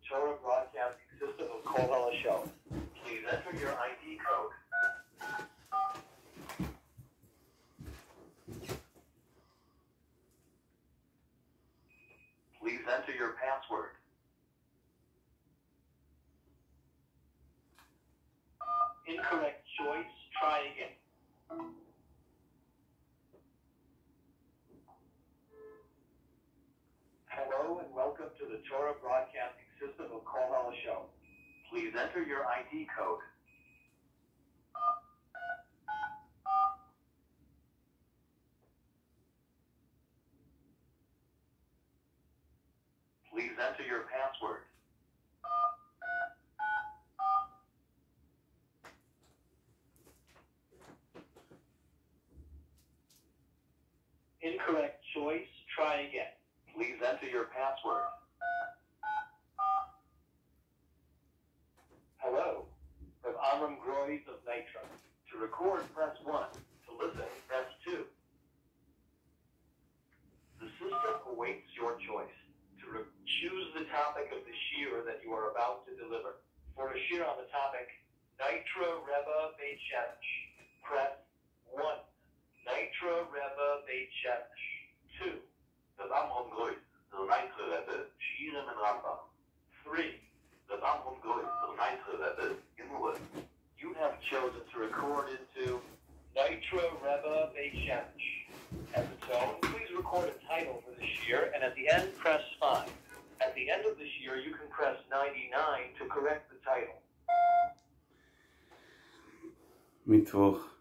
Torah Broadcasting System of Kol Halashon. Please enter your ID code. Please enter your password. Incorrect choice. Try again. Hello and welcome to the Torah Broadcasting System of Kol Halashon. Please enter your ID code. Please enter your password. Incorrect choice. Try again. Please enter your password. Hello, from Amram Groys of Nitra. To record, press 1. To listen, press 2. The system awaits your choice. To re- choose the topic of the shiur that you are about to deliver. For a shiur on the topic, Nitra Rebbe Beit Shemesh, press 1. Nitra Rebbe Beit Shemesh, 2. Reb Amram Grois, der Nitra Rebbe, Shiurim in Rambam. 3. Reb Amram Grois, der Nitra Rebbe, Gemara. You have chosen to record into Nitra Rebbe Beit Shemesh. At the tone, please record a title for the shiur, and at the end, press 5. At the end of the shiur, you can press 99 to correct the title. מיטוואך,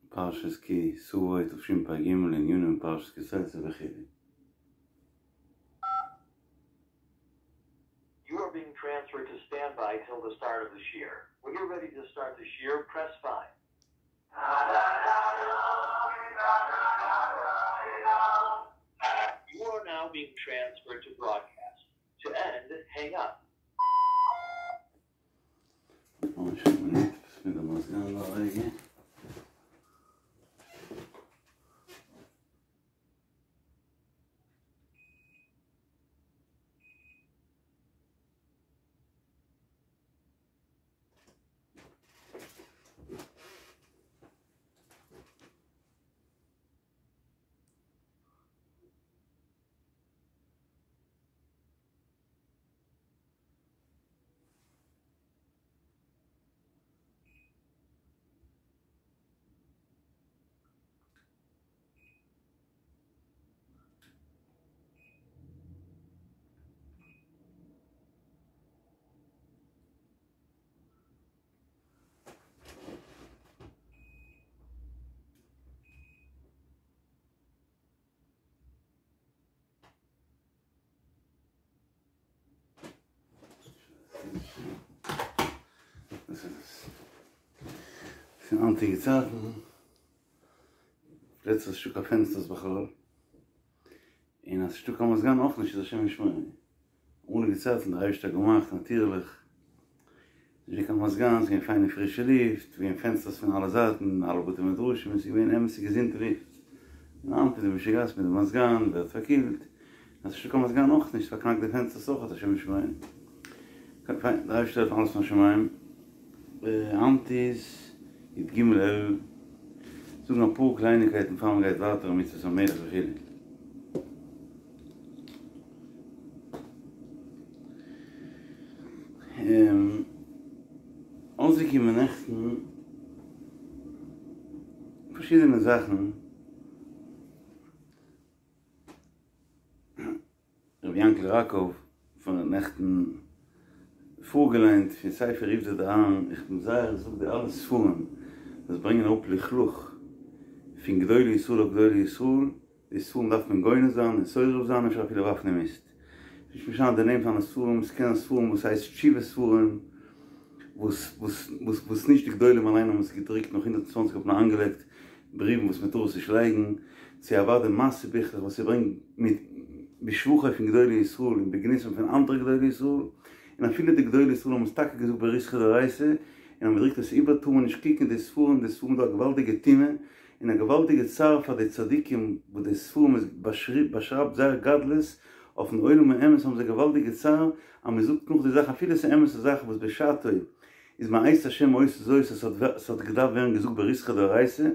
פרשת כי תבוא תשפ"ג, לענייננו פרשת כי תצא וכו'. You are being transferred to standby till the start of the shiur. When you're ready to start the shiur, press 5. You are now being transferred to broadcast. To end, hang up. ממש מינוט, מיט דעם מזגן דא א רגע. דאס איז עס. פון היינטיגע צייטן, פלעצער איז נישטא קיין פענסטערס בכלל, און אז ס'נישטא קיין מזגן אויך נישט איז השם ישמור. אמאליגע צייטן דער אייבערשטער האט געמאכט נאטירליך, נישט געווען קיין מזגן, ס'איז געווען פיינע פרישע לופט, געווען פענסטערס פון אלע זייטן, אלע בתי מדרשים, און ס'איז געווען אמת'ע געזונטע לופט. און היינט איז די משוגעת מיט די מזגן, ווערט פארקילט, אז ס'נישטא קיין מזגן אויך נישט, פארקנאקט די פענסטערס אויך, השם ישמור. פיין, דער אייבערשטער העלפן אלעס מן השמים. היינט איז י"ג אלול, זאגן אפאר קלייניקייטן פאר מ'גייט ווייטער אין מצוות המלך וכו'. אויסגעקומען נעכטן פארשידענע זאכן, רבי יענקל ראקוב האט נעכטן פארגעליינט פון ספר עובדא דאהרן, איך בין זייער זאג די אלע ספרים וואס ברענגען אראפ לכלוך פון גדולי ישראל אויף גדולי ישראל, די ספרים דארף מען גונז זיין און שורף זיין אפשר אפילו ווארפן אין מיסט. נישט משנה די נעם פון די ספרים, ס'קען זיין ספרים וואס הייסט תשובה ספרים, וואס וואס וואס וואס נישט די גדולים אליין האבן עס געדרוקט נאך 120 האט מען איינגעלייגט בריוון וואס מ'טאר עס נישט לייגן, צו אוודאי מעשה ביכלעך וואס ס'ברענגט מיט בשבחו פון גדולי ישראל און בגנותם פון אנדערע גדולי ישראל, און אפילו די גדולי ישראל האבן עס טאקע געזאגט בריתחא דאורייתא, און אז מ'דרוקט עס איבער טאר מען נישט קוקן די ספרים, די ספרים איז דא א געוואלדיגע טומאה, און א געוואלדיגע צער פאר די צדיקים וואס די ספרים איז באשרייבט זייער גדלות. אויפן עולם האמת האבן זיי געוואלדיגע צער אז מען זאגט נאך די זאך אפילו עס איז אמת'ע זאכן וואס בשעתו איז מאת השם היתה זאת עס האט געדארפט ווערן געזאגט בריתחא דאורייתא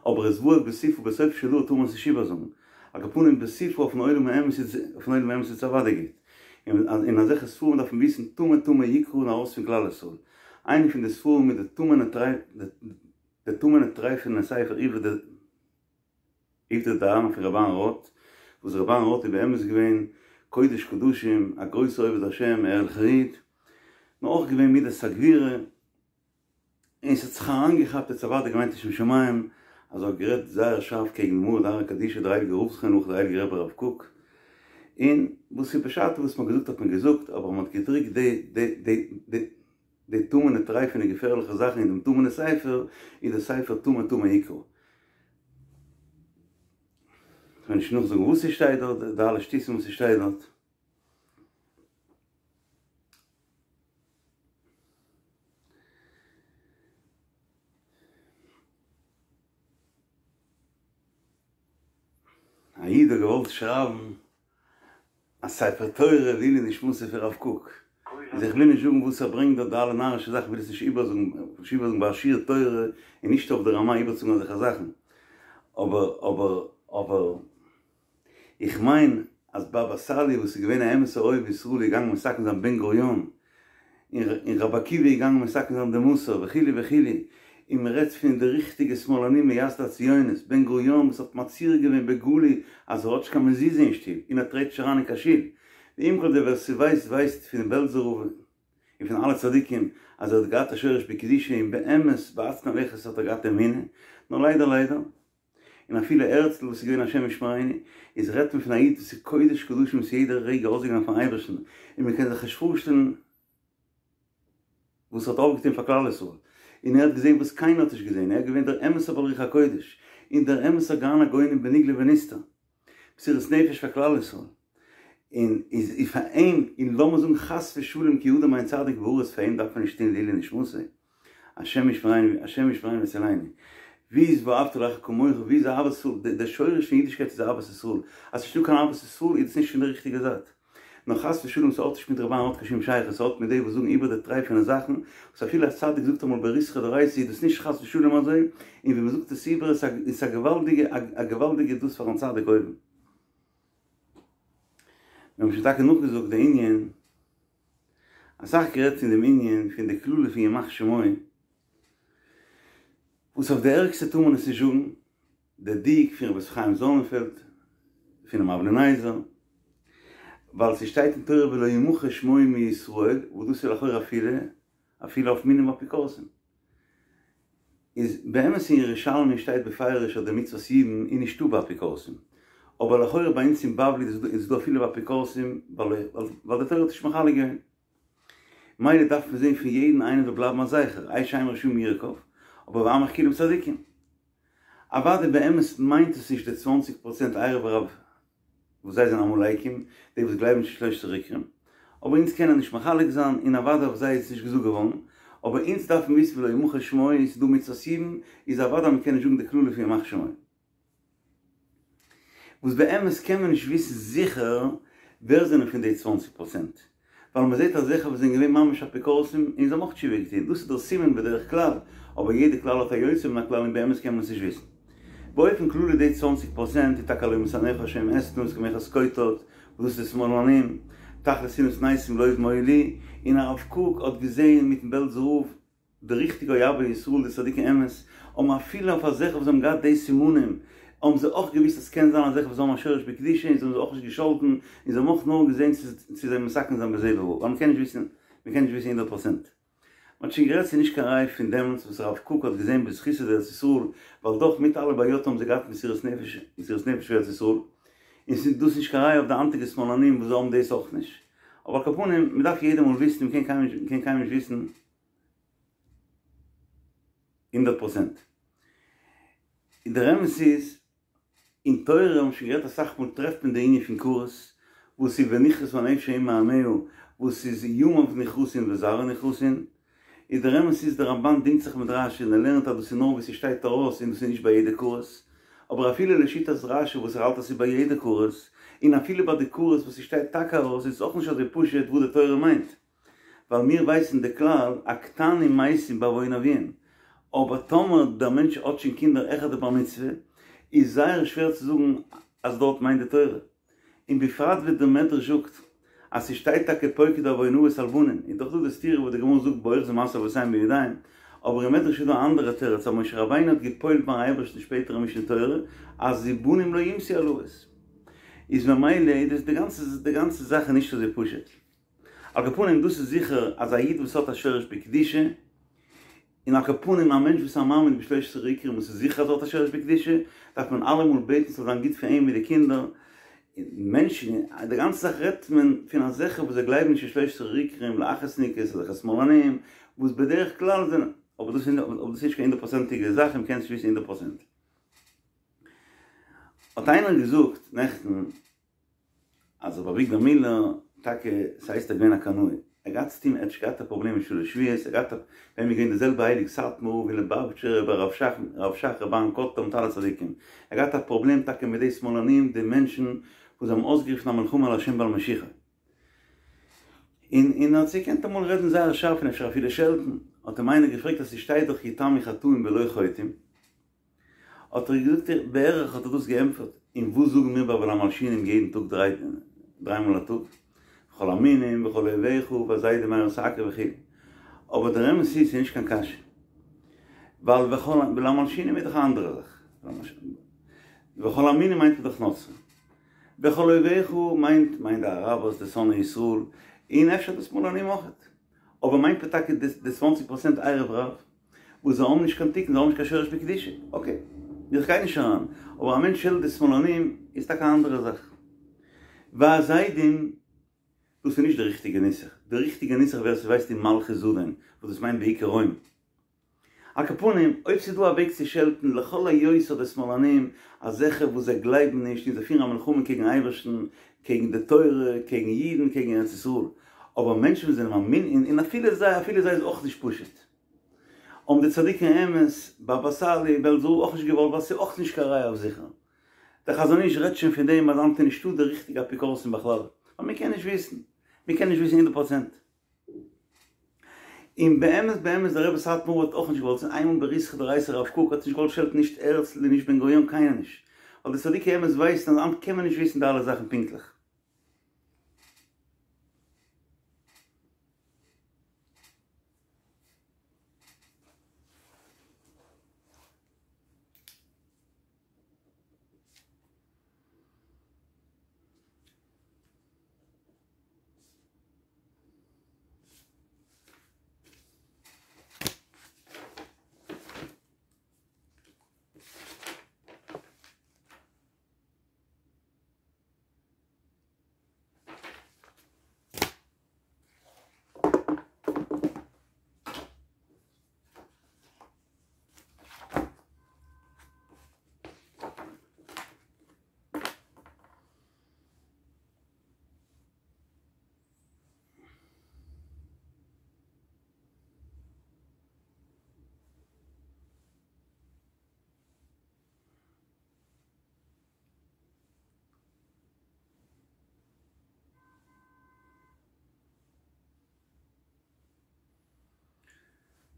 אבער עס ווארט בסיפא בסוף של דבר טאר מען עס נישט איבערזאגן על כל פנים בסיפא אויפן עולם האמת איז אויפן עולם האמת איז עס אוודאי גוט און אזעלכע ספרים דארף מען וויסן טמא טמא יקרא און ארויס פון כלל ישראל איינע פון די ספרים איז די טמא'נע די טמא'נע טרייפענע ספר עובדא דאהרן פון ר' אהרן רוט, וואס ר' אהרן רוט איז באמת געווען קודש קדשים, א גרויסער עובד השם, א ערליכער איד, נאר אויך געווען מידת הגבורה, און ס'האט זיך אריינגעכאפט האט אוודאי געמיינט לשם שמים, אז ער האט גערעדט זייער שארף קעגן די מרא דאתרא קדישא דער הייליגער רב זכרונו לברכה דער הייליגער רבי הרב קוק, און וואס איז בשעתו וואס מ'האט געזאגט האט מען געזאגט, אבער מ'האט געדרוקט די די די די די טמא'נע טרייפענע געפערליכע זאכן אין דעם טמא'נע ספר, איז דער ספר טמא טמא יקרא. כ'וועל נישט נאכזאגן וואס ס'שטייט דארט, די אלע שטותים וואס ס'שטייט דארט. א איד האט געוואלט שרייבן א ספר תורה לעילוי נשמתו פון רב קוק, איז איך וויל נישט זאגן וואס ער ברענגט דארט די אלע נארישע זאכן, כ'וויל עס נישט איבערזאגן, נישט איבערזאגן ביי א שיעור תורה און נישט אויף די רמה איבערצוזאגן אזעלכע זאכן, אבער אבער אבער איך מיין אז בבא סאלי וואס איז געווען א אמת'ער אוהב ישראל איז געגאנגען מתקן זיין בן גוריון, און רבי עקיבא איז געגאנגען מתקן זיין די מוסר וכו' וכו', און מען רעדט פון די ריכטיגע שמאלנים מייסדי הציונות, בן גוריון וואס האט מצהיר געווען בגלוי אז ער האט נישט קיין מזוזה אין שטוב און ער טרעט נישט אריין אין קיין שול, ועם כל זה ווער ס'ווייסט ווייסט פונעם בעלזער רב און פון אלע צדיקים אז ער האט געהאט א שורש בקדושה און באמת בהצנע לכת האט ער געהאט אמונה, נאר ליידער ליידער. און אפילו הערצל וואס איז געווען השם ישמרינו, איז רעדט מען פון א איד וואס איז קודש קדשים וואס יעדע רגע אויסגעגאנגען פארן אייבערשטן, און מען קען זיך נישט פארשטעלן וואס ער האט אויפגעטון פאר כלל ישראל, און ער האט געזען וואס קיינער האט נישט געזען, ער איז געווען דער אמת'ער בעל רוח הקודש, און דער אמת'ער גאון הגאונים בנגלה ונסתר, מסירות נפש פאר כלל ישראל, און איז איז פאר אים, און לאמיר זאגן חס ושלום כי אדם אין צדיק בארץ פאר אים דארף מען נישט טון לעילוי נשמתו, השם ישמרינו השם ישמרינו ויצילנו, ווי איז ואהבת לרעך כמוך, ווי איז אהבת ישראל, דער שורש פון אידישקייט איז אהבת ישראל, אז ס'נישטא קיין אהבת ישראל איז דאס נישט פון די ריכטיגע זייט, נאר חס ושלום ס'האט נישט מיט ר' אהרן האט קיין שום שייכות, ס'האט מיט די וואס זאגן איבער די טרייפענע זאכן, וואס אפילו א צדיק זאגט אמאל בריתחא דאורייתא איז דאס נישט חס ושלום אזוי, און ווען מ'זאגט עס איבער איז עס א געוואלדיגע א געוואלדיגע דאס פארן צדיק אויבן. מיר האבן שוין טאקע נאכגעזאגט די ענין, אסאך גערעדט פון דעם ענין פון די קללה פון ימח שמו, וואס אויף די ערגסטע טאר מען עס נישט זאגן, די דיוק פון רבי חיים זאנענפעלד פונעם אבני נזר, ווייל ס'שטייט אין תורה ולא ימחה שמו מישראל, וואס דאס איז לכאורה אפילו אפילו אויף מינים אפיקורסים. איז באמת אין ירושלמי שטייט בפירוש אז די מצוות יבום איז נישטא ביי אפיקורסים, אבער לכאורה ביי אונז אין בבלי איז דא אפילו ביי אפיקורסים ווייל די תורה האט נישט מחלק געווען. מילא דארף מען זען פון יעדן איינעם זאל בלייבן א זכר, איי שם רשעים ירקב, אבער ועמך כולם צדיקים. אוודאי באמת מיינט עס נישט די צוואנציג פראצענט ערב רב וואס זיי זענען עמלקים, די וואס גלייבן נישט אין שלושת עיקרים, אבער אונז קענען נישט מחלק זיין, און אוודאי אויף זיי איז עס נישט געזאגט געווארן, אבער אונז דארפן וויסן ולא ימחה שמו, און ס'איז דא מצוות יבום, איז אוודאי מ'קען נישט זאגן די קללה פון ימח שמו. וואס באמת קען מען נישט וויסן זיכער ווער זענען פון די צוואנציג פראצענט, ווייל מען זעט אזעלכע וואס זענען געווען ממש אפיקורסים און זיי האבן אויך תשובה געטון, דאס איז דער סימן בדרך כלל, אבער יעדע כלל האט א יוצא מן הכלל און באמת קען מען עס נישט וויסן. באופן כללי די צוואנציג פראצענט איז טאקע הלא משנאיך השם אשנא את כמחת קוטט, וואס דאס איז שמאלנים, תכלית שנאת שנאתים לאויבים היו לי, און הרב קוק האט געזען מיטן בעלזער רב, די ריכטיגע אוהבי ישראל די צדיקי אמת האבן אפילו אויף אזעלכע וואס האבן געהאט די סימנים האבן זיי אויך געוויסט אז סקען זיין אזעלכע וואס האבן א שורש בקדושה און זיי האבן זיי אויך נישט געשאלטן און זיי האבן אויך נאר געזען צו זיי מתקן זיין בזה ובבא ווייל מ'קען נישט וויסן מ'קען נישט וויסן הונדערט פראצענט. מ'האט שוין גערעדט ס'איז נישט קיין ראי' פון דעמאלטס וואס הרב קוק האט געזען בזכותא דארץ ישראל ווייל דאך מיט אלע בעיות האבן זיי געהאט מסירות נפש מסירות נפש פאר ארץ ישראל און ס'איז דאס נישט קיין ראי' אויף די היינטיגע שמאלנים וואס זיי האבן דאס אויך נישט אבער על כל פנים מ'דארף יעדע מאל וויסן מ'קען קיינמאל נישט וויסן הונדערט פראצענט. און דער אמת איז, אין תורה האבן מיר שוין גערעדט אסאך מאל טרעפט מען די ענין פון כרת, וואס איז ונכרתה הנפש ההיא מעמיה, וואס איז ימיו נכרתין וזרעו נכרתין, איז דער אמת איז דער רמב"ן דינגט זיך מיט רש"י און ער לערנט אז דאס איז נאר וואו ס'שטייט ארויס און דאס איז נישט ביי יעדע כרת. אבער אפילו לשיטת רשי וואס ער האלט אז ס'איז ביי יעדע כרת, און אפילו ביי די כרת וואס ס'שטייט טאקע ארויס איז עס אויך נישט אזוי פשוט וואס די תורה מיינט. ווייל מיר ווייסן די כלל הקטנים מתים בעוון אביהם, אבער טאמער דער מענטש האט שוין קינדער העכער די בר מצוה, איז זייער שווער צו זאגן אז דארט מיינט די תורה. און בפרט ווי דער מדרש זאגט אז ס'שטייט טאקע פוקד עוון אבות על בנים, איז דאך דא די סתירה וואס די גמרא זאגט באוחזין מעשה אבותיהם בידיים, אבער אין מדרש איז דא א אנדערע תירוץ אז משה רבינו האט גע'פועל'ט ביים אייבערשטן שפעטער אין משנה תורה אז ובנים לא יומתו על אבות, איז ממילא איז דאס די גאנצע די גאנצע זאך איז נישט אזוי פשוט. על כל פנים דאס איז זיכער אז א איד וואס האט א שורש בקדושה, און על כל פנים א מענטש וואס איז א מאמין בשלושת עיקרים וואס איז זיכער אז ער האט א שורש בקדושה, דארף מען אלעמאל בעטן ס'זאל זיין גוט פאר אים מיט די קינדער, מענטשן, די גאנצע זאך רעדט מען פון אזעלכע וואס זיי גלייבן נישט אין שלושת עיקרים, להכעיסניקעס, אזעלכע שמאלנים, וואס בדרך כלל זענען, אבער דאס איז נישט קיין הונדערט פראצענטיגע זאך און מ'קען נישט וויסן הונדערט פראצענט. האט איינער געזאגט נעכטן. אז רבי אביגדור מילער, טאקע ס'הייסט ער געווען א קנאי, ער געהאט צוטוהן ער האט נישט געהאט א פראבלעם מיט שלש שבועות, ער געהאט א, ביי אים איז געווען די זעלבע הייליג סאטמאר רב ווי ליבאוויטשער רבי הרב שך, הרב שך רבי אהרן קאטלער מיט אלע צדיקים, ער געהאט א פראבלעם טאקע מיט די שמאלנים די מענטשן וואס האבן אויסגערופן א מלחמה על השם ועל משיחו, און און ער האט זיי געקענט אמאל רעדן זייער שארף און אפשר אפילו שעלטן, האט אים איינער געפרעגט אז ס'שטייט דאך יתמו חטאים ולא חוטאים, האט ער געזאגט בערך האט ער דאס געענטפערט, און וואס זאגן מיר ביי ולמלשינים יעדן טאג דריי דריי מאל א טאג, וכל המינים וכל אויביך והזדים מהרה תעכר וכו', אבער דער אמת איז ס'איז נישט קיין קשיא, ווייל וכל ולמלשינים איז דאך א אנדערע זאך, וכל המינים מיינט מען דאך נוצרים, וכל אויביך מיינט מיינט די אראבערס די שונאי ישראל, און אפשר די שמאלנים אויכעט, אבער מיינט מען טאקע די צוואנציג פראצענט ערב רב? וואס זיי האבן נישט קיין תיקון, זיי האבן נישט קיין שורש בקדושה, אקעי, איך גיי נישט אריין, אבער א מענטש שעלט די שמאלנים איז טאקע א אנדערע זאך. והזדים, דאס איז נישט די ריכטיגע נוסח, די ריכטיגע נוסח ווער ס'ווייסט איז מלכות זדון, וואס דאס מיינט בעיקר רוים. על כל פנים, אויב ס'איז דא א וועג צו שעלטן לכל היותר די שמאלנים, אזעלכע וואס זיי גלייבן נישט און זיי פירן א מלחמה קעגן אייבערשטן, קעגן די תורה, קעגן אידן, קעגן ארץ ישראל, אבער מענטשן וואס זענען מאמין, און אפילו זיי, אפילו זיי איז אויך נישט פשוט. האבן די צדיקי האמת, באבא סאלי, בעלזער רב אויך נישט געוואלט ווייל ס'איז אויך נישט קיין ראיה אויף זיכער. דער חזון איש רעדט שוין פון דעם אז היינט איז נישטא די ריכטיגע אפיקורסים בכלל, ווייל מ'קען נישט וויסן, מ'קען נישט וויסן הונדערט פראצענט. און באמת באמת דער רבי סאטמאר האט אויך נישט געוואלט, ס'איז איינמאל בריתחא דאורייתא הרב קוק האט נישט געוואלט שעלטן נישט הערצל און נישט בן גוריון קיינער נישט, ווייל די צדיקי אמת ווייסן אז היינט קען מען נישט וויסן די אלע זאכן פונקטליך.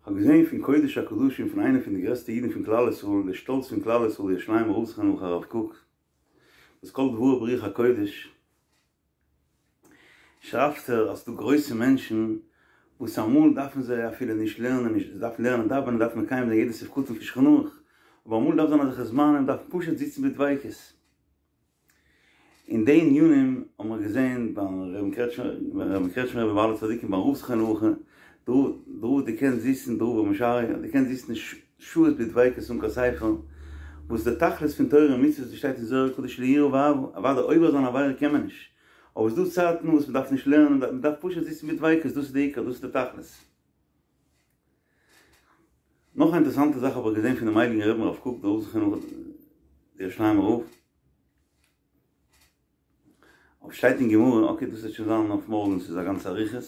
כ'האב געזען פון קודש הקדשים פון איינע פון די גרעסטע אידן פון כלל ישראל, די שטאלץ פון כלל ישראל ירושלימער רב זכרונו לברכה הרב קוק, וואס כל דבריו ברוח הקודש, שרייבט ער אז ס'דא גרויסע מענטשן וואס אמאל דארפן זיי אפילו נישט לערנען, נישט זיי דארפן לערנען דאווענען, דארפן מקיים זיין יעדע סעיף קטן פון שולחן ערוך, אבער אמאל דארף זיין אזעלכע זמנים, דארף מען פשוט זיצן בדביקות. אין די ענינים האבן מיר געזען ביים רבין קרעטשמער רבי ביי אלע צדיקים ביים רב זכרונו לברכה, דער רב האט געקענט זיצן, דער רב רבי משריה האט געקענט זיצן שעות בדביקות אן קיין ספר, וואס די תכלית פון תורה און מצוות ווי שטייט אין זוהר הקדוש ליראה ואהבה, אוודאי עובר זיין עבירה קען מען נישט, אבער ס'דא צייטן וואס מ'דארף נישט לערנען, מ'דארף פשוט זיצן בדביקות, דאס איז די עיקר, דאס איז די תכלית. נאך א אינטערעסאנטע זאך האב איך געזען פונעם הייליגן רבין הרב קוק דער רב זכרונו לברכה דער ירושלימער רב, אויף שטייט אין גמרא, אקעי דאס וועט שוין זיין אויף מארגן, ס'איז א גאנצע אריכות.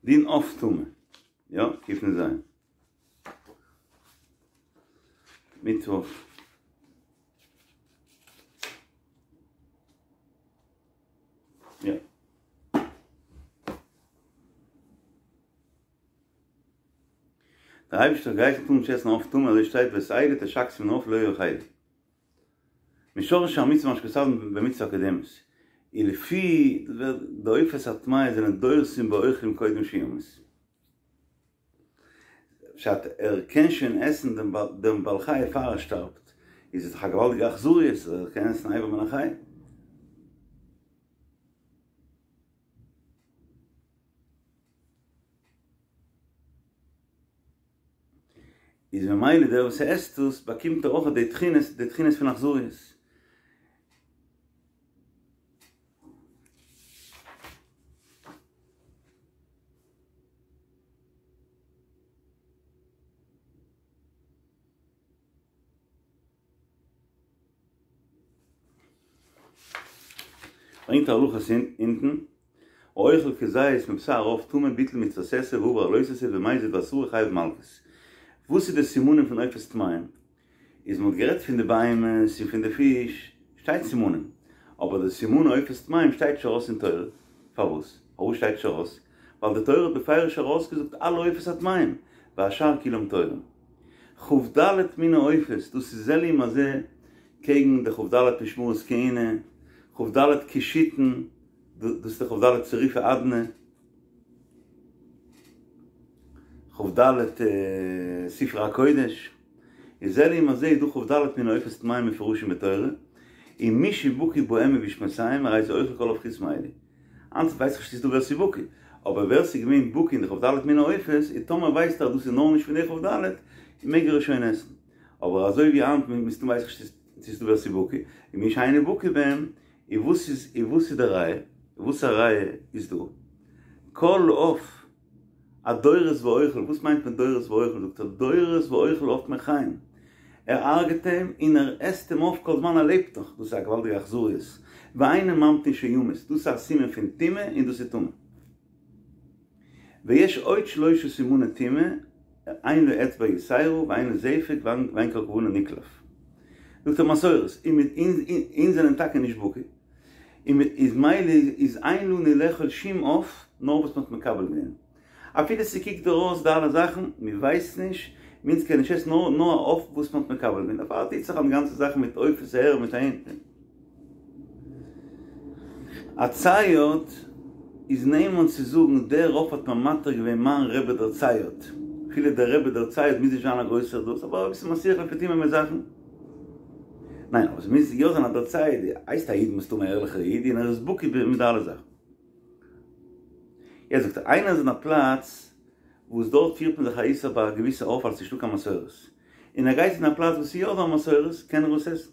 דין עוף טמא, יא, קנ"ז. מיטוואך. יא. דער אייבערשטער האט געהייסן טאר נישט עסן עוף טמא אזוי שטייט ואת אלה תשקצו מן העוף לא יאכלו. משורש המצוה מה שכתבנו במצוה הקודמת, און לפי די עופות הטמאות זענען דורסים באוכלים קודם שימות. פשט, ער קען שוין עסן דעם בעל חי פאר ער שטארבט, איז עס דאך א געוואלדיגע אכזריות אז ער קען עסן אבר מן החי. איז ממילא דער וואס עסט עס באקומט ער אויך די תכונות, די תכונות פון אכזריות. ברענגט ער הלכות אונטן, האוכל כזית מבשר עוף טמא ביטל מצות עשה ועבר על לא תעשה ובמזיד ואסרו חייב מלקות. וואס איז די סימנים פון עופות טמאים? איז מ'האט גערעדט פון די בהמות און פון די פיש שטייט סימנים, אבער די סימני עופות טמאים שטייט נישט ארויס אין תורה, פארוואס? פארוואס שטייט נישט ארויס? ווייל די תורה האט בפירוש ארויסגעזאגט אלע עופות הטמאים, והשאר כולם טהורים. כ"ד מיני עופות, דאס איז זה לעומת זה קעגן די כ"ד משמרות כהונה, כ"ד קישוטין, דאס איז די כ"ד צירופי אדני, כ"ד ספרי הקודש, איז זה לעומת זה איז דא כ"ד מיני עופות טמאים מפורשים בתורה, און מי שבקי בהם ובשמותיהם הרי זה אוכל כל עוף חוץ מאלו. היינט ווייס איך נישט צו ס'איז דא ווער ס'איז בקי, אבער ווער ס'איז געווען בקי אין די כ"ד מיני עופות, און טאמער ווייסט ער אז דאס איז נאר נישט פון די כ"ד, מעג ער עס שוין עסן. אבער אזוי ווי היינט מסתמא ווייס איך נישט צו ס'איז דא ווער ס'איז בקי, און מי שאינו בקי בהם, און וואס איז און וואס איז די ראיה? וואס א ראיה איז דא? כל עוף הדורס ואוכל, וואס מיינט מען דורס ואוכל? זאגט ער דורס ואוכל עוף מן חיים, ער הרג'ט אים און ער עסט אים אויף כל זמן ער לעבט נאך, דאס איז א געוואלדיגע אכזריות, ואינו ממתין שימות, דאס איז א סימן פון טומאה און דאס איז טמא. ויש עוד שלושה סימני טומאה, אין לו אצבע יתירה ואין לו זפק ואין כל כוונה נקלף. זאגט ער מסורת, אונז זענען טאקע נישט בקי, און איז מילא איז אין לנו לאכול שום עוף נאר וואס מ'האט מקבל געווען. אפילו ס'קוקט דיר אויס די אלע זאכן, מ'ווייסט נישט, אונז קען נישט עסן נאר נאר א עוף וואס מ'האט מקבל געווען, דערפאר טוט זיך אן די גאנצע זאך מיט עופות אהער מיט אהין. א צייד איז נאמן צו זאגן דער עוף האט מיר מתיר געווען מיין רבי דער צייד, אפילו דער רבי דער צייד מוז נישט זיין א גרויסער דאס אבער אביסל מסיח לפי תומו מיט זאכן. ניין אבער ס'מוז יא זיין אז דער צייד הייסט א איד מסתמא א ערליכער איד און ער איז בקי מיט די אלע זאכן. יעצט זאגט ער איינער איז אין א פלאץ וואס דארט פירט מען זיך א איסור ביי א געוויסע עוף ווייל ס'נישטא קיין מסורת און ער גייט אין א פלאץ וואס ס'איז יא דא א מסורת קען ער עס עסן.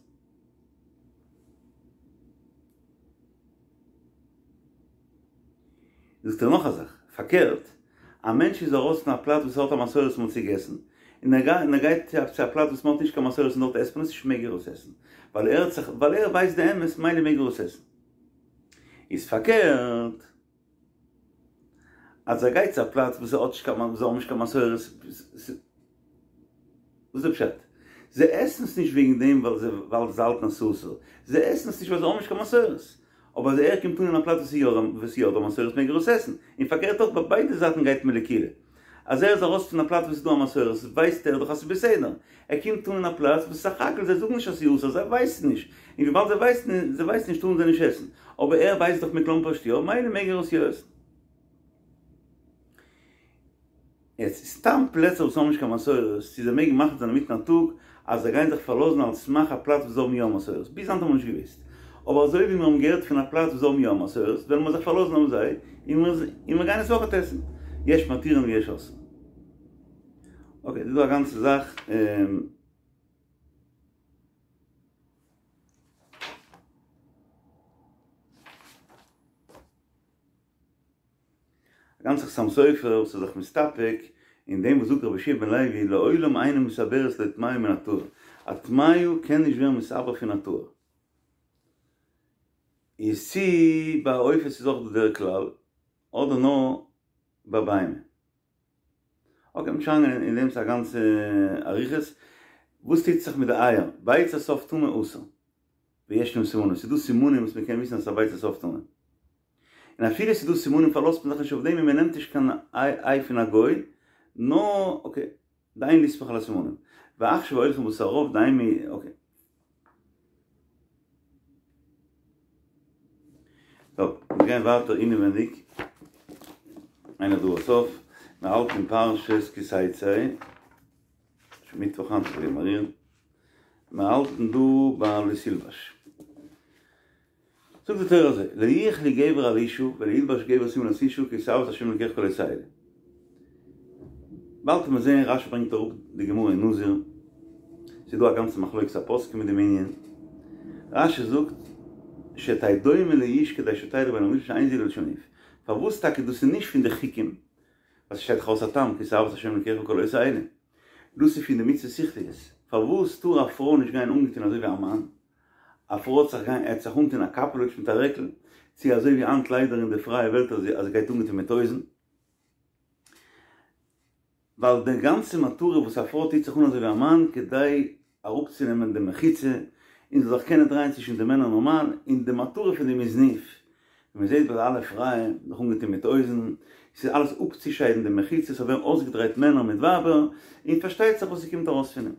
זאגט ער נאך א זאך, פארקערט, א מענטש איז ארויס פון א פלאץ וואס האט א מסורת מען האט עס געגעסן, און ער גייט צו א פלאץ וואס מען האט נישט קיין מסורת און דארט עסט מען עס נישט מעג ער עס עסן, ווייל ער האט זיך, ווייל ער ווייסט די אמת מילא מעג ער עס עסן. איז פארקערט. אז ער גייט צו א פלאץ וואס האט נישט קיין זיי האבן נישט קיין מסורת, וואס איז די פשט? זיי עסן עס נישט וועגן דעם ווייל זיי ווייל זיי האלטן אז ס'איז אסור, זיי עסן עס נישט ווייל זיי האבן נישט קיין מסורת, אבער אז ער קומט אן אין א פלאץ וואס איז יא וואס איז יא דא מסורת מעג ער עס עסן, און פארקערט אויך ביי ביידע זייטן גייט מען לקולא. אז ער איז ארויס פון א פלאץ וואס איז דא א מסורת ווייסט ער דאך אז ס'איז בסדר, ער קומט אן אין א פלאץ וואס סך הכל זיי זאגן נישט אז ס'איז אסור זיי ווייסן נישט, און וויבאלד זיי ווייסן זיי ווייסן נישט טארן זיי נישט עסן, אבער ער ווייסט דאך מכלומר'שט יא, מילא מעג ער עס יא עסן. יעצט סתם פלעצער וואס האבן נישט קיין מסורת, צו זיי מעגן מחליט זיין אינמיטן א טאג אז זיי גייען זיך פארלאזן על סמך א פלאץ וואס זיי האבן יא מסורת, ביז היינט האבן מיר נישט געוואוסט, אבער אזוי ווי מיר האבן געהערט פון א פלאץ וואס זיי האבן יא מסורת, וועלן מיר זיך פארלאזן אויף זיי, און מיר גייען עס אויכעט עסן. יש מתירין ויש אוסרין. אקעי, דא איז דא א גאנצע זאך. א גאנצע חתם סופר וואס איז זיך מסתפק אין דעם וואס זאגט רבי יהושע בן לוי לעולם אינה מתעברת לא טמאה מן הטהור, א טמאה קען נישט ווערן מתעבר פון א טהור. איז צי ביי עופות איז אויך דא דער כלל אדער נאר. ביי בהמה. אקעי, מ'וועט שוין אריינגיין אין דעם ס'איז א גאנצע אריכות. וואס טוט זיך מיט די אייער? ביצת עוף טמא אסור. וישנם סימנים, ס'איז דא סימנים וואס מ'קען וויסן אז ס'איז א ביצת עוף טמא. און אפילו ס'איז דא סימנים פארלאזט מען זיך נישט אויף דעם און מ'נעמט נישט קיין איי פון א גוי, נאר אקעי, דאין לסמוך על הסימנים. ועכשיו הולכים בתר הרוב דאין מ. אקעי. טוב, מיר גייען ווייטער אינעווענדיג, איינער דא בסוף, מען האלט אין פרשת כי תצא, שוין מיטוואך היינט, זאל איך געבן א ריר, מיר האלטן דא ביי לא תלבש. זאגט די תורה אזוי, לא יחלו גבר על אשה ולא ילבש גבר שמלת אשה כי תועבת השם אלקיך כל עושה אלה. באלד וועט מען זעהן רשי ברענגט אראפ די גמרא אין נזיר, ס'איז דא א גאנצע מחלוקת הפוסקים מיט דעם ענין, רשי זאגט שתהא דומה לאיש כדי שתלך בין האנשים שאין זה לשון ניאוף, פארוואס טאקע דאס איז נישט פון די חוקים, ווייל ס'שטייט דאך אויס א טעם כי תועבת השם אלקיך כל עושה אלה, דאס איז פון די מצוות שכליות, פארוואס טאר א פרוי נישט גיין אנגעטון אזוי ווי א מאן? א פרוי האט זיך גיין עט זיך אנטון א קאפעלוטש מיט א רעקל, צו אזוי ווי היינט ליידער אין די פרייע וועלט אז זי גייט אנגעטון מיט הויזן, ווייל די גאנצע מטרה וואס א פרוי טוט זיך אן אזוי ווי א מאן כדי אראפצונעמען די מחיצה און זאל זיך קענען דרייען צווישן די מענער נארמאל, און די מטרה פון דעם איז ניאוף, ווי מען זעט ביי די אלע פרייע זיך אנגעטון מיט הויזן, ס'איז אלעס אפצושיידן די מחיצות, ס'זאל ווערן אויסגעדרייט מענער מיט ווייבער, און פארשטייט זיך וואס ס'קומט ארויס פון דעם.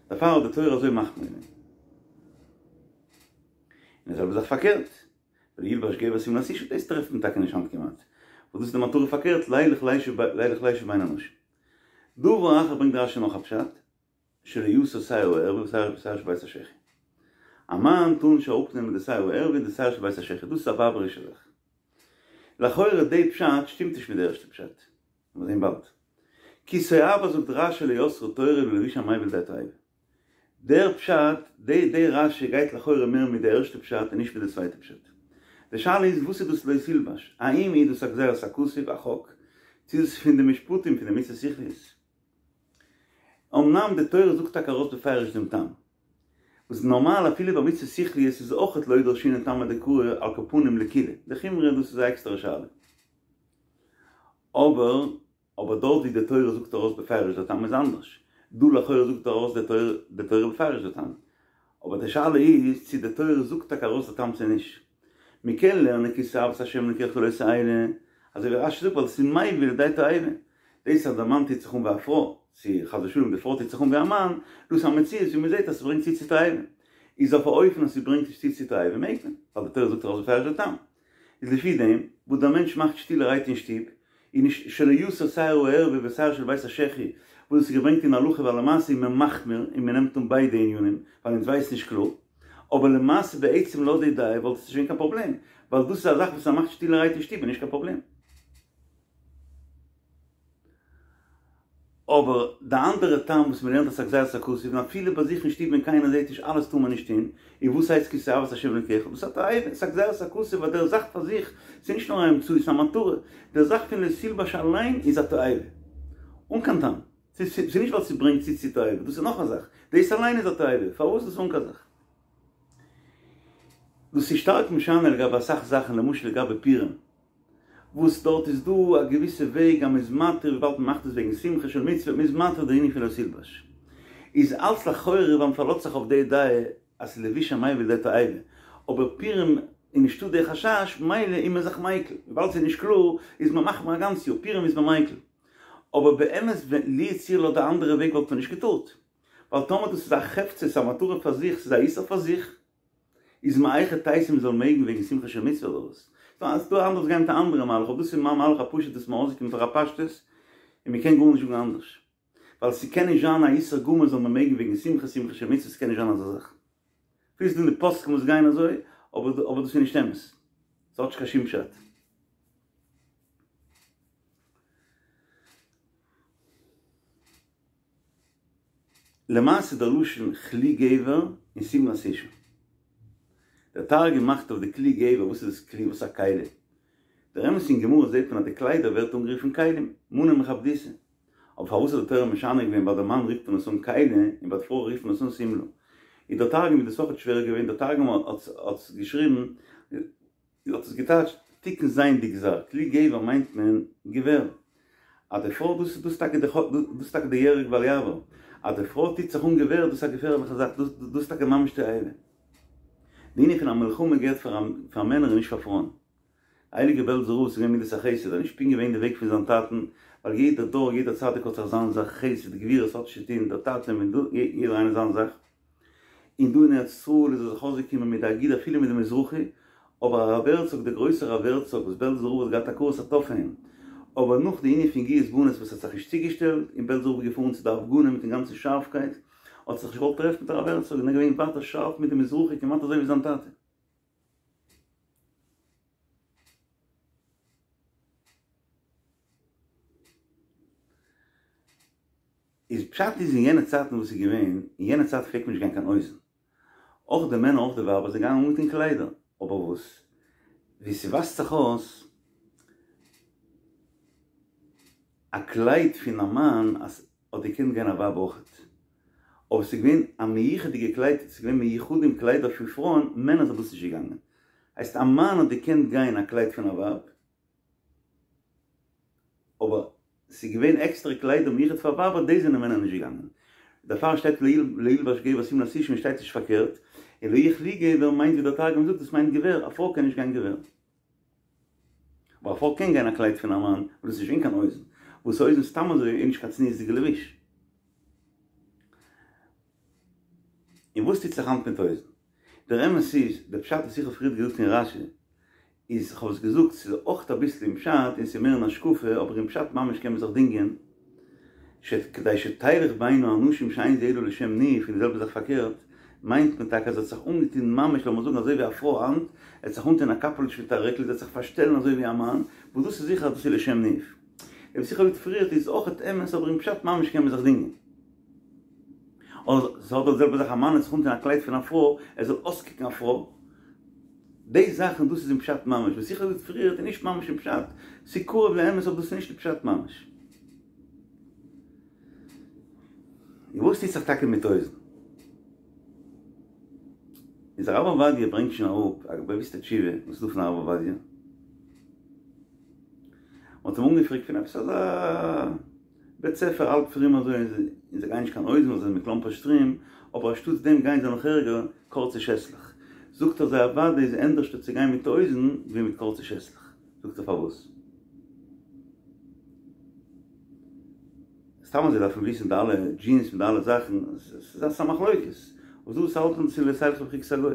דערפאר האט די תורה אזוי מחמיר געווען. און די זעלבע זאך פארקערט, ולא ילבש גבר שמלת אשה, דאס טרעפט מען טאקע נישט היינט כמעט, וואס דאס איז די מטרה פארקערט, לילך לישב בין האנשים. דבר אחר ברענגט רשי נאך א פשט, שלא יסור שער הערווה ושער שבית השחי. א מאן טאר נישט אראפנעמען די שער הערווה און די שער של בית השחי, דאס איז א ווייבערישע זאך. לכאורה די פשט שטימט נישט מיט די ערשטע פשט. מיר זעהן באלד. כי תועבה זאגט רשי לא אסרה תורה אלא לבוש המביא לידי תועבה. דער פשט, די די רשי גייט לכאורה מער מיט די ערשטע פשט און נישט מיט די צווייטע פשט. די שאלה איז וואס איז דאס לא תלבש? האם איז דאס א גזירת הכתוב, א חוק? צו איז עס פון די משפטים פון די מצות שכליות? אמנם די תורה זאגט טאקע ארויס בפירוש דעם טעם, וואס נארמאל אפילו ביי מצות שכליות איז אויכעט לא דרשינן טעמא דקרא על כל פנים לקולא, לחומרא דאס איז א עקסטערע שאלה. אבער אבער דארט ווי די תורה זאגט ארויס בפירוש די טעם איז אנדערש, דא לכאורה זאגט ארויס די תורה די תורה בפירוש די טעם, אבער די שאלה איז צו די תורה זאגט טאקע ארויס די טעם צו נישט. מען קען לערנען כי תועבת ה' אלקיך כל עושה אלה, אזוי ווי רשי זאגט ווייל עס איז מביא לידי תועבה. דאס אז די מאן טוט זיך אן ווי א פרוי, צו חס ושלום די פרוי טוט זיך אן ווי א מאן, דאס איז א מציאות ווי מען זעט אז ס'ברענגט צו צו תועבה. איז אויף א אופן אז ס'ברענגט נישט צו צו תועבה מעג מען, ווייל די תורה זאגט ארויס בפירוש די טעם. איז לפי דעם וואס דער מענטש מאכט שטילערהייט אין שטוב, איז נישט שלא יסור שער הערווה ושער של בית השחי, וואס דאס איז געברענגט אין הלכה ווייל למעשה איז מען מחמיר און מען נעמט אן ביידע ענינים, ווייל אונז ווייסן נישט קלאר. אבער למעשה בעצם לויט די דעה וואלט עס נישט געווען קיין פראבלעם, ווייל דאס איז א זאך וואס ער מאכט שטילערהייט אין שטוב איז נישט קיין פראבלעם. אבער די אנדערע טעם וואס מען לערנט אז ס'איז א גזירת הכתוב און אפילו ביי זיך אין שטוב ווען קיינער זעט נישט אלעס טאר מען נישט טון, און וואס הייסט כי תועבת השם אלקיך? דאס איז א תועבה, ס'איז א גזירת הכתוב ווייל דער זאך פאר זיך, ס'איז נישט נאר א אמצעי, ס'איז א מטרה, דער זאך פון לא תלבש אליין איז א תועבה, אן קיין טעם, ס'איז נישט ווייל ס'ברענגט צו צו תועבה, דאס איז נאך א זאך, דאס אליין איז א תועבה, פארוואס דאס אן קיין זאך? דאס איז שטארק משנה לגבי אסאך זאכן, למשל לגבי פורים. וואס דארט איז דא א געוויסע וועג אז מ'איז מתיר וויבאלד מ'מאכט עס וועגן שמחה של מצוה, מ'איז מתיר די ענין פון לא תלבש. איז אלץ לכאורה ווייל מ'פארלאזט זיך אויף די דעה אז ס'איז לבוש המביא לידי תועבה, אבער פורים איז נישטא די חשש מילא איז מען זיך מיקל, וויבאלד ס'איז נישט קלאר איז מען מחמיר א גאנץ יאר, פורים איז מען מיקל. אבער באמת ווען לו יצוייר לויט די אנדערע וועג וואלט מען נישט געטארט. ווייל טאמער דאס איז א חפצא, ס'איז א מטרה פאר זיך, ס'איז א איסור פאר זיך. איז מהיכי תיתי מ'זאל מעגן וועגן שמחה של מצוה אדער וואס? ס'דא אנדערע וואס גייען מיט א אנדערע מהלך אבער דאס איז מיין מהלך הפשוט דאס איז מיר אויסגעקומען פאר א פשטות און מ'קען גארנישט זאגן אנדערש ווייל ס'קען נישט זיין א איסור גמור זאל מען מעגן וועגן שמחה שמחה של מצוה ס'קען נישט זיין אזא זאך אפילו ס'דא אין די פוסקים וואס גייען אזוי אבער אבער דאס איז נישט אמת ס'האט נישט קיין שום פשט. למעשה דער לשון כלי גבר און שמלת אשה. דער תרגום מאכט אויף די כלי גבר, וואס איז דאס כלי? וואס איז א כלי? דער אמת אין גמרא זעט מען אז די קליידער ווערט אנגערופן כלים, מנא מכבדותא. אבער פארוואס האט די תורה משנה געווען ביי די מאן רופט מען עס אן כלי און ביי די פרוי רופט מען עס אן שמלה? איז דער תרגום איז דאס אויכעט שווער געווען, דער תרגום האט עס געשריבן, האט עס געטייטשט. תיקון זיין די גזר, כלי גבר מיינט מען געווער. אז די פרוי, דאס איז טאקע די דאס איז טאקע די יהרג ואל יעבור, אז די פרוי טוט זיך אן געווער דאס איז א געפערליכע זאך, דאס דאס איז טאקע ממש תועבה. די ענין פון א מלחמה געהערט פאר פאר מענער און נישט פאר פרויען. הייליגע בעלזער רב ס'איז געווען מידת החסד, איז נישט פונקט געווען די וועג פון זיין טאטן, ווייל יעדער דור יעדער צדיק האט זיך זיין זאך, חסד גבורה ס'האט נישט צו טון דער טאטע מיט דא, יעדער איינער זיין זאך. און דא אין ארץ ישראל איז ער זיך אויסגעקומען מיט די אגודה אפילו מיט די מזרחי, אבער הרב הערצאג דער גרויסער הרב הערצאג וואס בעלזער רב האט געהאט הכרת הטוב פון אים, אבער נאך די ענין פון גיוס בנות וואס האט זיך נישט צוגעשטעלט און בעלזער רב איז געפארן צו די הפגנה מיטן גאנצן שארפקייט, האט זיך נישט געוואלט טרעפן מיט הרב הערצאג און ער איז געווען ווייטער שארף מיט די מזרחי כמעט אזוי ווי זיין טאטע. איז פשט איז אין יענע צייטן וואס איז געווען, אין יענע צייט פלעגט מען נישט גיין קיין הויזן, אויך די מענער אויך די ווייבער זענען געגאנגען אנגעטון קליידער, אבער וואס ווי ס'ווייזט זיך אויס א קלייד פון א מאן אז האט געקענט גיין א ווייב אויכעט, אבער ס'איז געווען א מיוחד'דיגע קלייד, ס'איז געווען מיוחדים קליידער פון פרויען, מענער זענען דאס נישט געגאנגען, הייסט א מאן האט געקענט גיין א קלייד פון א ווייב, אבער ס'איז געווען עקסטערע קליידער מיוחד פאר ווייבער, דאס זענען מענער נישט געגאנגען. דערפאר שטייט לא ילבש גבר שמלת אשה און שטייט נישט פארקערט, און לא יהיה כלי גבר מיינט ווי דער תרגום זאגט דאס מיינט געווער, א פרוי קען נישט גיין געווער. אבער א פרוי קען גיין א קלייד פון א מאן, און דאס איז נישט געווען קיין הויזן, וואס הויזן סתם אזוי איז נישט קיין צניעות'דיגע לבוש. און וואס טוט זיך היינט מיט הויזן? דער אמת איז, דער פשט וואס איך האב פריערט געזאגט אין רש"י, איז, כ'האב עס געזאגט, ס'איז אויך אביסל אין פשט, און ס'איז מער אין השקפה, אבער אין פשט ממש קען מען זיך דינגען, שכדי שתלך בין האנשים שאין זה אלא לשם ניאוף, און די זעלבע זאך פארקערט, מיינט מען טאקע אז ער האט זיך אנגעטון ממש לאמיר זאגן אזוי ווי א פרוי היינט, ער האט זיך אנגעטון א קאפעלוטש מיט א רעקל, ער האט זיך פארשטעלן אזוי ווי א מאן, וואס דאס איז זיכער אז דאס איז לשם ניאוף. וואס איך האב געזאגט פריערט איז אויך אמת, אבער אין פשט ממש קען מען זיך דינגען. אדער ס'האט די זעלבע זאך א מאן האט זיך אנגעטון א קלייד פון א פרוי, ער זאל אויסקוקן א פרוי. די זאכן דאס איז אין פשט ממש, וואס איך האב געזאגט פריערט איז נישט ממש אין פשט, ס'איז קרוב לאמת אבער דאס איז נישט די פשט ממש. און וואס טוט זיך טאקע מיט הויזן? איז הרב עובדיה ברענגט שוין אראפ א באוויסטע תשובה וואס איז דא פון הרב עובדיה, מ'האט אים אנגעפרעגט פון עפעס אזא בית ספר האלב פרום אזוי און זיי גייען נישט קיין הויזן ווייל זיי זענען מכלומפערשט פרום, אבער אנשטאטס דעם גייען זיי נאך ערגער קורצע שעסלעך. זאגט ער זיי אוודאי איז ענדערשטער צו גיין מיט הויזן ווי מיט קורצע שעסלעך. זאגט ער פארוואס? סתם אזוי דארף מען וויסן די אלע דזשינס מיט די אלע זאכן, ס'איז א מחלוקת, אבער דא וואס האלטן צו לא תלכו בחוקות הגוי.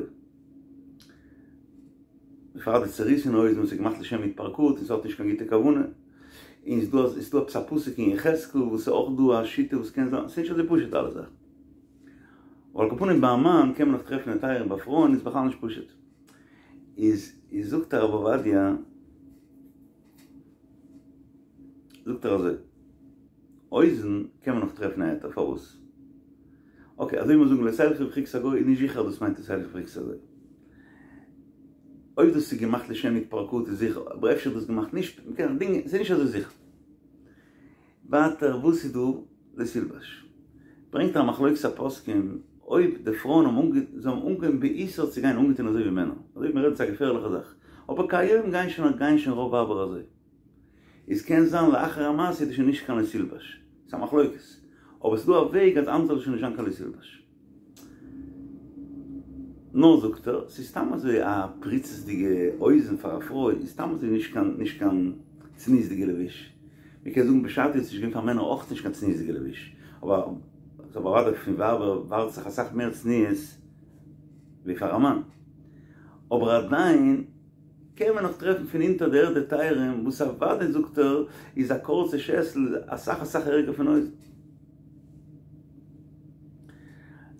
בפרט די צעריסענע הויזן וואס איז געמאכט לשם התפרקות און ס'האט נישט קיין גוטע כוונה. און ס'איז דא איז דא עפעס א פסוק אין יחזקאל וואס איז אויך דא א שיטה וואס קען זיין, ס'איז נישט אזוי פשוט אלע זאכן. אבער על כל פנים ביי א מאן קען מען נאך טרעפן היתרים, ביי פרויען איז בכלל נישט פשוט. איז איז זאגט הרב עובדיה, זאגט ער אזוי, הויזן קען מען נאך טרעפן א היתר, פארוואס? אקעי, אזוי ווי מיר זאגן לא תלכו בחוקות הגוי איז נישט זיכער אז דאס מיינט לא תלכו בחוקות הגוי. אויב דאס איז געמאכט לשם התפרקות איז זיכער, אבער אפשר איז דאס געמאכט נישט, מ'קען זיך דינגען, ס'איז נישט אזוי זיכער. ווייטער וואס איז דא לא תלבש? ברענגט ער א מחלוקת הפוסקים אויב די פרויען האבן אנגע זיי האבן אנגעהויבן באיסור צו גיין אנגעטון אזוי ווי מענער, אזוי ווי מ'רעדט איז א געפערליכע זאך, אבער כהיום גייען שוין גייען שוין רוב ווייבער אזוי. איז קען זיין לאחר המעשה איז דאס שוין נישט קיין לא תלבש, ס'איז א מחלוקת, אבער ס'איז דא א וועג אז היינט זאל עס שוין נישט זיין קיין לא תלבש. נאר זאגט ער, ס'איז סתם אזוי א פריצות'דיגע הויזן פאר א פרוי איז סתם אזוי נישט קיין נישט קיין צניעות'דיגע לבוש. מ'קען זאגן בשעתו איז נישט געווען פאר מענער אויך נישט קיין צניעות'דיגע לבוש, אבער אבער אוודאי פון ווייבער ווארט זיך אסאך מער צניעות ווי פאר א מאן. אבער עדיין קען מען נאך טרעפן פון אונטער די ערד היתרים וואס אוודאי זאגט ער איז א קורצע שעסל אסאך אסאך ערגער פון הויזן.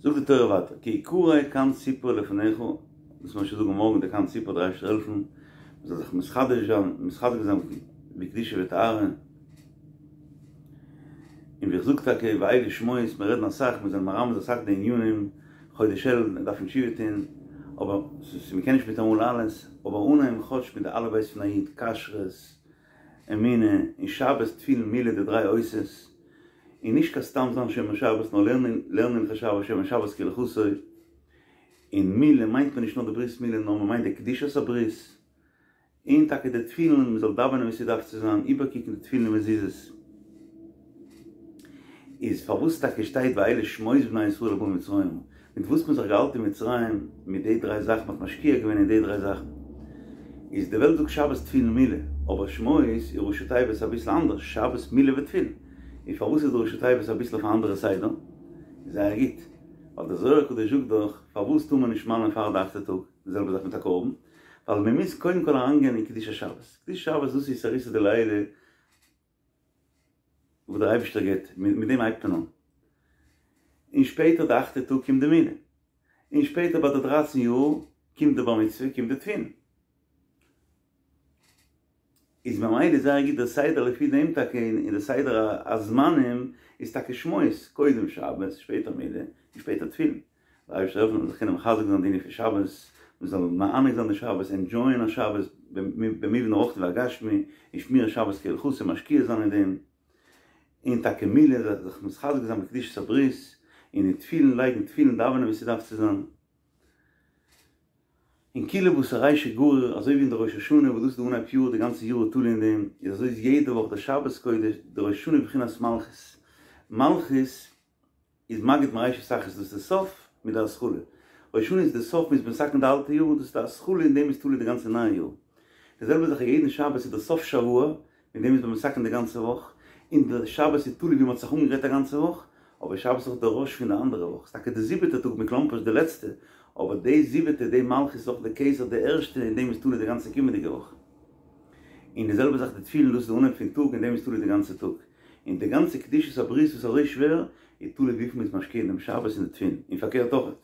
זאגט די תורה ווייטער כי יקרא קן ציפור לפניך, דאס מיר שוין זאגן מארגן די קן ציפור דער אייבערשטער זאל העלפן מען זאל זיך מתחדש זיין מתחזק זיין בקדושה וטהרה, און ווי איך זאג טאקע ואלה שמות, מיר רעדן אסאך, מיר זענען מרמז אסאך די ענינים, חודש אלול מען דארף תשובה טון, אבער מ'קען נישט מיטאמאל אלעס, אבער אנהייבן כאטש מיט די אלף בית פון א איד, כשרות, אמונה, און שבת, תפילין, מילה, די דריי אותות, און נישט קיין סתם זיין שומר שבת נאר לערנען לערנען הלכות שבת שומר שבת כהלכתו, און מילה מיינט מען נישט נאר די ברית מילה נאר מען מיינט די קדושת הברית. און טאקע די תפילין, מען זאל דאווענען ווי ס'דארף צו זיין, איבערקוקן די תפילין און מזוזות. איז פארוואס טאקע שטייט ואלה שמות בני ישראל הבאים מצרימה? מיט וואס מ'האט זיך געהאלטן אין מצרים, מיט די דריי זאכן, מ'האט משקיע געווען אין די דריי זאכן. איז די וועלט זאגט שבת תפילין מילה, אבער שמות איז ראשי תיבות אביסל אנדערש, שבת מילה ותפילין. און פארוואס איז די ראשי תיבות אביסל אויף א אנדערע סדר? זייער גוט, ווייל דער זוהר הקדוש זאגט דאך, פארוואס טאר מען נישט מל'ען פאר די אכטע טאג, די זעלבע זאך מיט א קרבן, ווייל מען מוז קודם כל אריינגיין אין קדושת שבת, קדושת שבת דאס איז אתערותא דלעילא וואס דער אייבערשטער גיבט, מיט דעם הייבט מען אן, און שפעטער די אכטע טאג קומט די מילה, און שפעטער ביי די דרייצן יאר קומט די בר מצוה, קומט די תפילין. איז ממילא זייער גוט דער סדר לפי דעם טאקע אין די סדר הזמנים איז טאקע שמות קודם שבת שפעטער מילה און שפעטער תפילין. דער אייבערשטער זאל העלפן מ'זאל זיך קענען מחזק זיין די ענין פון שבת, מען זאל מענג זיין די שבת, ענדזשויען א שבת במובן הרוחני והגשמי, און שמירת שבת כהלכתה משקיע זיין אין דעם, און טאקע מילה זיך מתחזק זיין בקדושת הברית, און אין תפילין לייגן תפילין דאווענען ווי ס'דארף צו זיין. און כולא בתר רישא גריר, אזוי ווי אין די ראש השנה וואס דאס איז די אנהייב יאר, די גאנצע יאר איז תלוי אין דעם, איז אזוי איז יעדע וואך די שבת קודש, די ראש השנה איז בחינת מלכות, מלכות איז מגיד מרישא תחרית דאס איז די סוף מיט די התחלה, ראש השנה איז די סוף מ'איז מתקן די אלטע יאר, דאס איז די התחלה אין דעם איז תלוי די גאנצע נייע יאר, די זעלבע זאך יעדן שבת איז די סוף שבוע, מיט דעם איז מען מתקן די גאנצע וואך, און די שבת איז תלוי ווי מען האט זיך אנגעגרייט א גאנצע וואך, אבער שבת איז אויך די ראש פון די אנדערע וואך, ס'איז טאקע די זיבעטע טאג מכלומפערשט די לעצטע, אבער די זיבעטע, די מלכות איז אויך די כתר די ערשטע, אין דעם איז תלוי די גאנצע קומענדיגע וואך. און די זעלבע זאך די תפילין, דאס איז די אנהייב פון טאג, אין דעם איז תלוי די גאנצע טאג. און די גאנצע קדושת הברית וואס איז אזוי שווער, איז תלוי וויפיל מען איז משקיע אין דעם שבת און די תפילין, און פארקערט אויך,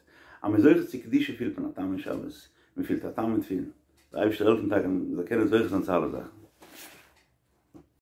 אז מען איז זוכה צו קדושה פילט מען א טעם אין שבת, מען פילט א טעם אין תפילין. דער אייבערשטער העלפן טאקע מען זאל קענען זוכה זיין צו אלע זאכן.